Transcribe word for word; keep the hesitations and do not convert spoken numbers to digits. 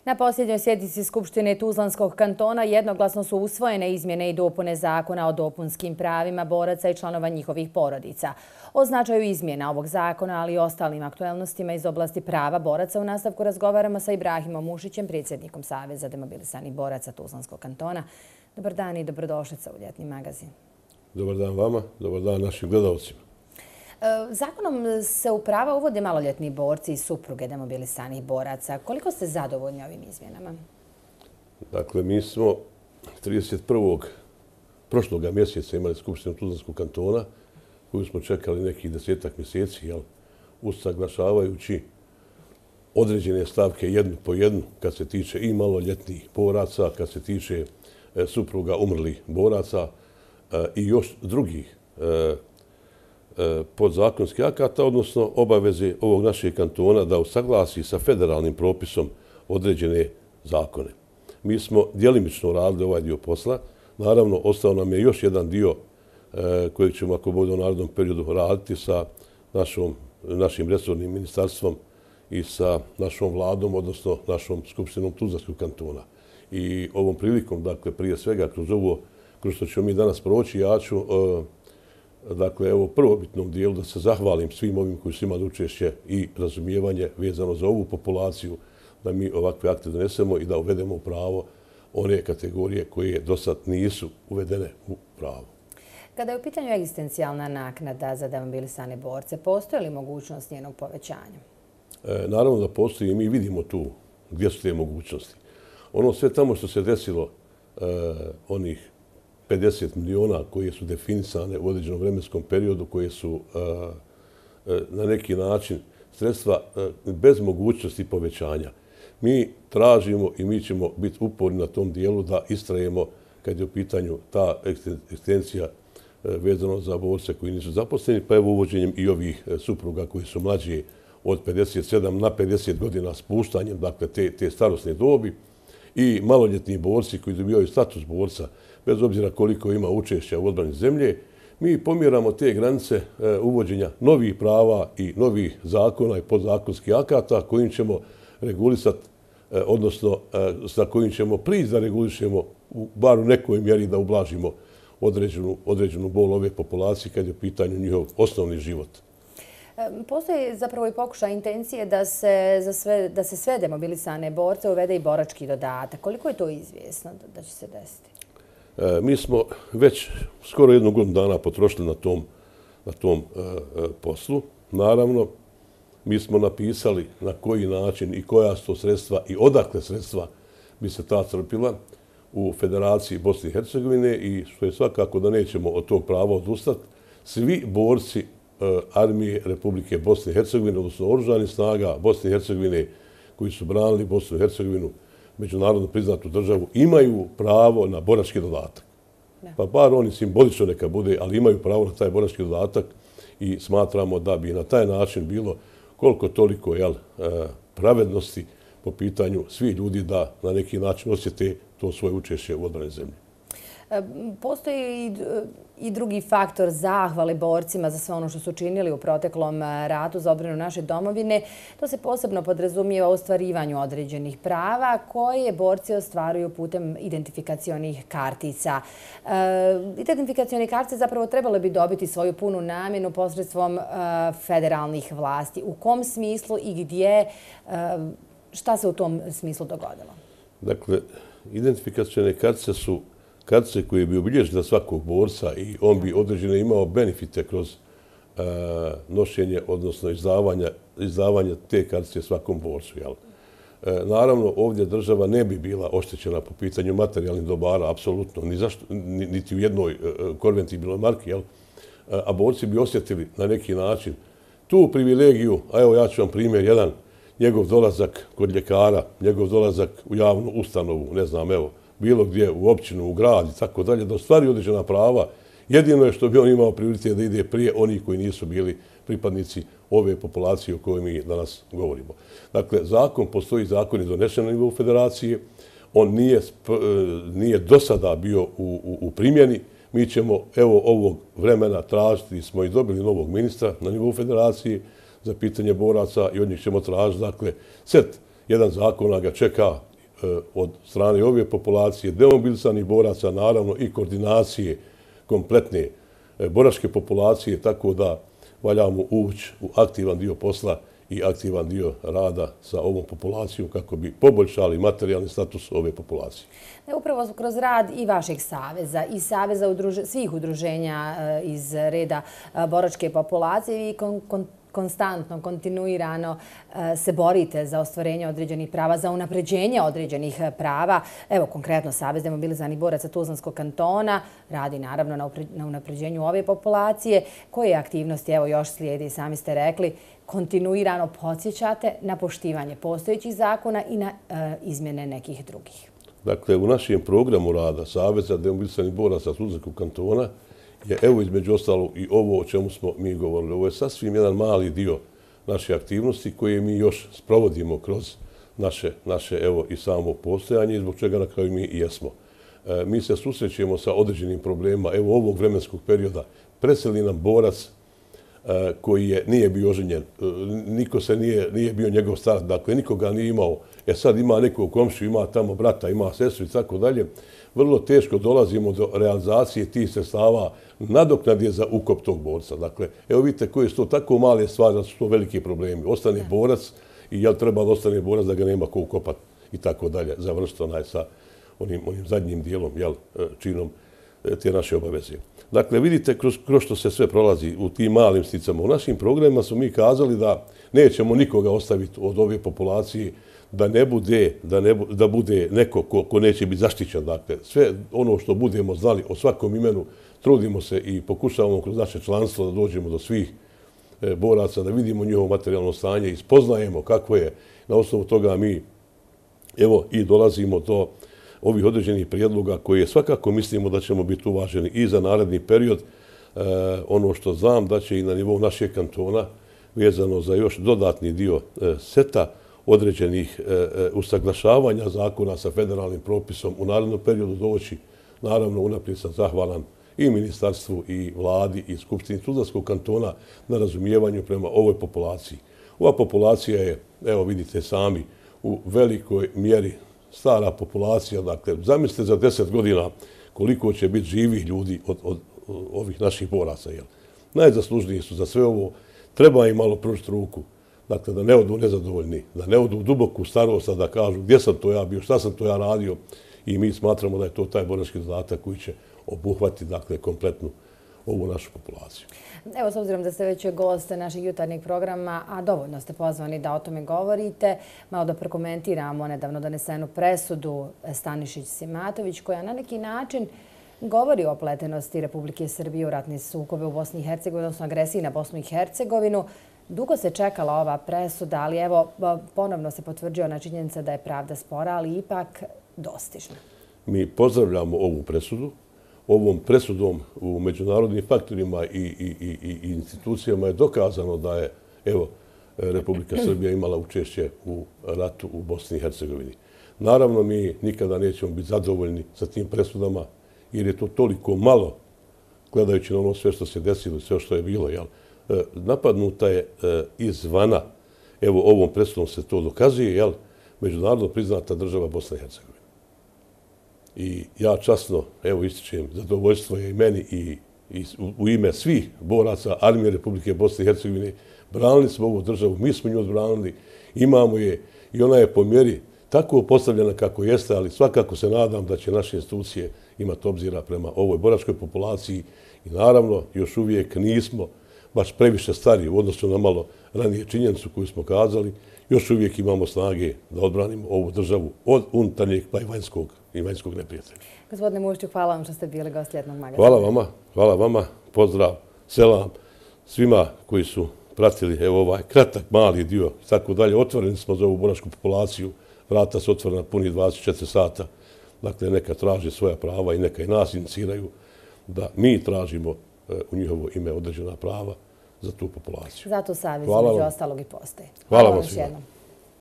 Na posljednjoj sjednici Skupštine Tuzlanskog kantona jednoglasno su usvojene izmjene i dopune Zakona o dopunskim pravima boraca i članova njihovih porodica. O značaju izmjena ovog zakona, ali i ostalim aktuelnostima iz oblasti prava boraca u nastavku razgovaramo sa Ibrahimom Mušićem, predsjednikom Saveza demobilisanih boraca Tuzlanskog kantona. Dobar dan i dobrodošlica u ljetni magazin. Dobar dan vama, dobar dan našim gledalcima. Zakonom se u prava uvode maloljetni borci i supruge demobilisanih boraca. Koliko ste zadovoljni ovim izmjenama? Dakle, mi smo trideset prvog prošloga mjeseca imali Skupštinu Tuzlanskog kantona koju smo čekali nekih desetak mjeseci, jel, usaglašavajući određene stavke jednu po jednu kad se tiče i maloljetnih boraca, kad se tiče e, supruga umrlih boraca e, i još drugih e, podzakonskih akata, odnosno obaveze ovog našeg kantona da usaglasi sa federalnim propisom određene zakone. Mi smo djelimično radili ovaj dio posla. Naravno, ostao nam je još jedan dio kojeg ćemo, ako bude u narednom periodu, raditi sa našom, našim resornim ministarstvom i sa našom vladom, odnosno našom skupštinom Tuzlanskog kantona. I ovom prilikom, dakle, prije svega, kroz ovo, kroz što ćemo mi danas proći, ja ću dakle, evo prvobitnom dijelu da se zahvalim svim ovim koji su imali učešće i razumijevanje vezano za ovu populaciju, da mi ovakve akte donesemo i da uvedemo u pravo one kategorije koje do sad nisu uvedene u pravo. Kada je u pitanju egzistencijalna naknada za demobilisane borce, postoji li mogućnost njenog povećanja? E, naravno da postoji i mi vidimo tu gdje su te mogućnosti. Ono sve tamo što se desilo, e, onih pedeset miliona koje su definisane u određenom vremenskom periodu, koje su uh, uh, na neki način sredstva uh, bez mogućnosti povećanja. Mi tražimo i mi ćemo biti uporni na tom dijelu da istrajemo kad je u pitanju ta egzistencija uh, vezano za borce koji nisu zaposleni, pa evo uvođenjem i ovih uh, supruga koji su mlađi od pedeset sedam na pedeset godina spuštanjem, dakle te, te starosne dobi, i maloljetni borci koji dobijaju status borca, bez obzira koliko ima učešća u odbrani zemlje, mi pomjeramo te granice e, uvođenja novih prava i novih zakona i podzakonskih akata kojim ćemo regulisati, e, odnosno e, sa kojim ćemo prići da regulišemo u bar u nekoj mjeri da ublažimo određenu, određenu bol ove populacije kad je u pitanju njihov osnovni život. Postoji zapravo i pokušaj intencije da se, za sve, da se sve demobilisane borce uvede i borački dodatak. Koliko je to izvjesno da, da će se desiti? E, mi smo već skoro jednu godinu dana potrošili na tom, na tom e, poslu. Naravno, mi smo napisali na koji način i koja su to sredstva i odakle sredstva bi se ta crpila u Federaciji Bosne i Hercegovine i što je svakako da nećemo od tog prava odustati. Svi borci armije Republike Bosne i Hercegovine, odnosno oružanih snaga Bosne i Hercegovine koji su branili Bosnu i Hercegovinu, međunarodno priznatu državu, imaju pravo na borački dodatak. Pa bar oni simbolično neka bude, ali imaju pravo na taj borački dodatak i smatramo da bi na taj način bilo koliko toliko jel, pravednosti po pitanju svih ljudi da na neki način osjete to svoje učešće u odbrani zemlje. Postoji i drugi faktor zahvale borcima za sve ono što su činili u proteklom ratu za odbranu naše domovine. To se posebno podrazumijeva u ostvarivanju određenih prava koje borci ostvaruju putem identifikacionih kartica. Identifikacione kartice zapravo trebale bi dobiti svoju punu namjenu posredstvom federalnih vlasti. U kom smislu i gdje, šta se u tom smislu dogodilo? Dakle, identifikacione kartice su kartice koje bi obilježile svakog borca i on bi određene imao benefite kroz uh, nošenje, odnosno izdavanja, izdavanja te kartice svakom borcu. Jel? Uh, naravno, ovdje država ne bi bila oštećena po pitanju materijalnih dobara, apsolutno, ni zašto, ni, niti u jednoj uh, konvertibilnoj marki, jel? Uh, a borci bi osjetili na neki način tu privilegiju, a evo ja ću vam primjer jedan, njegov dolazak kod ljekara, njegov dolazak u javnu ustanovu, ne znam, evo, bilo gdje u općinu, u grad i tako dalje, da ostvari određena prava. Jedino je što bi on imao prioritet da ide prije onih koji nisu bili pripadnici ove populacije o kojoj mi danas govorimo. Dakle, zakon, postoji zakon je donesen na nivou federacije, on nije, nije do sada bio u, u, u primjeni, Mi ćemo evo ovog vremena tražiti, smo i dobili novog ministra na nivou federacije za pitanje boraca i od njih ćemo tražiti, dakle, set jedan zakona ga čeka e, od strane ove populacije, demobilisanih boraca, naravno i koordinacije kompletne e, boračke populacije, tako da valjamo ući u aktivan dio posla i aktivan dio rada sa ovom populacijom kako bi poboljšali materijalni status ove populacije. Upravo kroz rad i vašeg saveza i saveza udruž... svih udruženja iz reda boračke populacije i kon, kon, konstantno, kontinuirano se borite za ostvarenje određenih prava, za unapređenje određenih prava. Evo, konkretno Savez demobilizovanih boraca Tuzlanskog kantona radi naravno na, upre... na unapređenju ove populacije. Koje aktivnosti, evo još slijedi, sami ste rekli, kontinuirano podsjećate na poštivanje postojećih zakona i na e, izmjene nekih drugih? Dakle, u našem programu rada Saveza demobilizovanih boraca Tuzlanskog kantona je evo između ostalo i ovo o čemu smo mi govorili. Ovo je sasvim jedan mali dio naše aktivnosti koje mi još sprovodimo kroz naše, naše evo i samo postojanje, zbog čega na kraju mi i jesmo. E, mi se susrećemo sa određenim problemima. Evo ovog vremenskog perioda preseli nam borac koji je, nije bio oženjen, niko se nije, nije bio njegov starac, dakle nikoga nije imao, e sad ima nekog komšiju, ima tamo brata, ima sestru i tako dalje, vrlo teško dolazimo do realizacije tih sredstava nadoknadje za ukop tog borca. Dakle, evo vidite koje su to tako male stvari, da su to veliki problemi. Ostane borac i jel treba da ostane borac da ga nema ko ukopati i tako dalje, završiti onaj sa onim, onim zadnjim dijelom, jel, činom te naše obaveze. Dakle, vidite kroz, kroz što se sve prolazi u tim malim sticama. U našim programima smo mi kazali da nećemo nikoga ostaviti od ove populacije da ne bude, da ne, da bude neko ko, ko neće biti zaštićen. Dakle, sve ono što budemo znali o svakom imenu, trudimo se i pokušavamo kroz naše članstvo da dođemo do svih e, boraca, da vidimo njihovo materijalno stanje i spoznajemo kako je. Na osnovu toga mi evo i dolazimo do ovih određenih prijedloga koje svakako mislimo da ćemo biti uvaženi i za naredni period. E, ono što znam da će i na nivou našeg kantona vezano za još dodatni dio e, seta određenih e, e, usaglašavanja zakona sa federalnim propisom u narednom periodu doći. Naravno, unaprijed sam zahvalan i ministarstvu i vladi i skupštini Tuzlanskog kantona na razumijevanju prema ovoj populaciji. Ova populacija je, evo vidite sami, u velikoj mjeri stara populacija. Dakle, zamislite za deset godina koliko će biti živih ljudi od, od, od ovih naših boraca. Jel? Najzaslužniji su za sve ovo. Treba im malo pružiti ruku. Dakle, da ne odu nezadovoljni, da ne odu u duboku starost, da kažu gdje sam to ja bio, šta sam to ja radio. I mi smatramo da je to taj borački zadatak koji će obuhvatiti, dakle, kompletnu ovu našu populaciju. Evo, s obzirom da ste već gost našeg jutarnjeg programa, a dovoljno ste pozvani da o tome govorite, malo da prokomentiramo nedavno donesenu presudu Stanišić-Simatović, koja na neki način govori o opletenosti Republike Srbije u ratne sukobe u Bosni i Hercegovini, odnosno agresiji na Bosnu i Hercegovinu. Dugo se čekala ova presuda, ali evo, ponovno se potvrđuje ona činjenica da je pravda spora, ali ipak dostižna. Mi pozdravljamo ovu presudu. Ovom presudom u međunarodnim faktorima i, i, i, i institucijama je dokazano da je evo, Republika Srbija imala učešće u ratu u Bosni i Hercegovini. Naravno, mi nikada nećemo biti zadovoljni sa tim presudama, jer je to toliko malo, gledajući na ono sve što se desilo, sve što je bilo. Jel? Napadnuta je izvana, evo ovom presudom se to dokazuje, jel? Međunarodno priznata država Bosna i Hercegovina. I ja časno, evo ističem, zadovoljstvo je i meni i, i u ime svih boraca Armije Republike Bosne i Hercegovine. Branili smo ovu državu, mi smo nju odbranili, imamo je i ona je po mjeri tako postavljena kako jeste, ali svakako se nadam da će naše institucije imati obzira prema ovoj boračkoj populaciji i naravno još uvijek nismo baš previše stari u odnosu na malo ranije činjenicu koju smo kazali, još uvijek imamo snage da odbranimo ovu državu od unutarnjeg pa i vanjskog i vanjskog neprijatelja. Gospodine Mušćuk, hvala vam što ste bili gost Ljetnog magazina. Hvala vama, hvala vama, pozdrav, selam svima koji su pratili evo ovaj kratak, mali dio i tako dalje. Otvoreni smo za ovu boračku populaciju, vrata su otvorena puni dvadeset četiri sata, dakle neka traže svoja prava i neka i nas iniciraju da mi tražimo u njihovo ime određena prava za tu populaciju. Zato savez među ostalog i postoji. Hvala vam svima.